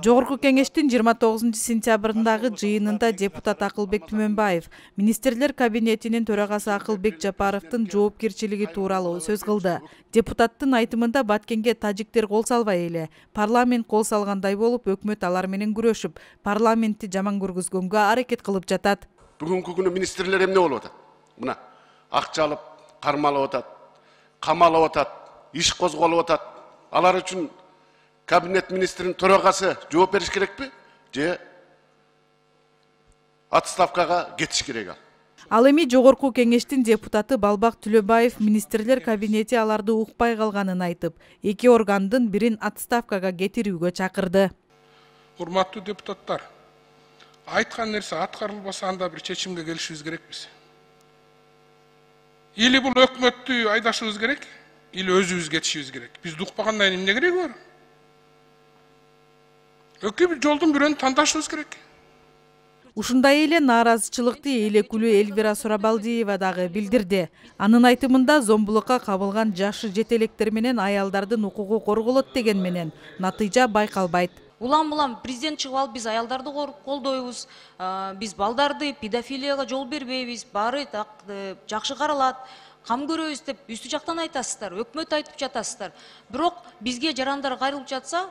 Жогорку кеңештин 29-сентябрындагы жыйынында депутат Акылбек Түмөнбаев министрлер кабинетинин төрагасы Акылбек Жапаровдун жоопкерчилиги тууралуу сөз кылды. Депутаттын айтымында Баткенге тажиктер кол салбай эле, парламент кол салгандай болуп, өкмөт алар менен күрөшүп, парламентти жаман көргүзгөнгө аракет кылып жатат. Бүгүнкү күнү министрлер эмне болуп атат? Мына акча алып, кармалып атат, камалып атат, иш козголуп атат. Алар үчүн кабинет министринин төрагасы жооп бериш керекпи? Же отставкага кетиш керек ал? Ал эми жогорку кеңештин депутаты Балбак Түлөбаев министрлер кабинети аларды укпай калганын айтып, эки органдын бирин отставкага кетирүүгө чакырды. Урматтуу депутаттар, айткан нерсе аткарылбаса анда бир чечимге келишибиз керекпиз. Или бул өкмөттү айдашыбыз керек, или өзүбүз кетишибиз керек. Бизди укпагандан кийин эмне кереги бар? Өкү бир жолдун бирөөнү тандашыбыз керек. Ушундай эле нааразычылыкты Элекулүү Элвира Сурабалдиева дагы билдирди. Анын айтымында зомбулукка кабылган жашы жетелектер менен аялдардын укугу корголот деген менен натыйжа байкалбайт. Улам-улам президент чыгып алып, биз аялдарды колдойбуз, биз балдарды педофилияга жол бербейбиз, баары жакшы каралат, кам көрөбүз деп үстү жактан айтасыздар, өкмөт айтып жатасыздар. Бирок бизге жарандар кайрылып жатса,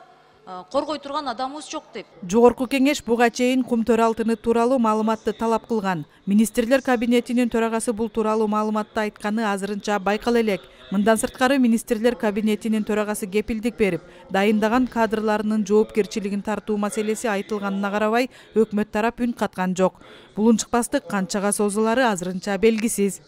коргой турган адамыбыз жок деп. Жогорку кеңеш буга чейин кум төр алтыны тууралуу маалыматты талап кылган. Министрлер кабинетинин төрагасы бул тууралуу маалыматты айтканы азырынча байкала элек. Мындан сырткары министрлер кабинетинин төрагасы кепилдик берип, дайындаган кадрларынын жоопкерчилигин тартуу маселеси айтылганына карабай, өкмөт тарап үн каткан жок. Булунчукпастык канчага созулары азырынча белгисиз.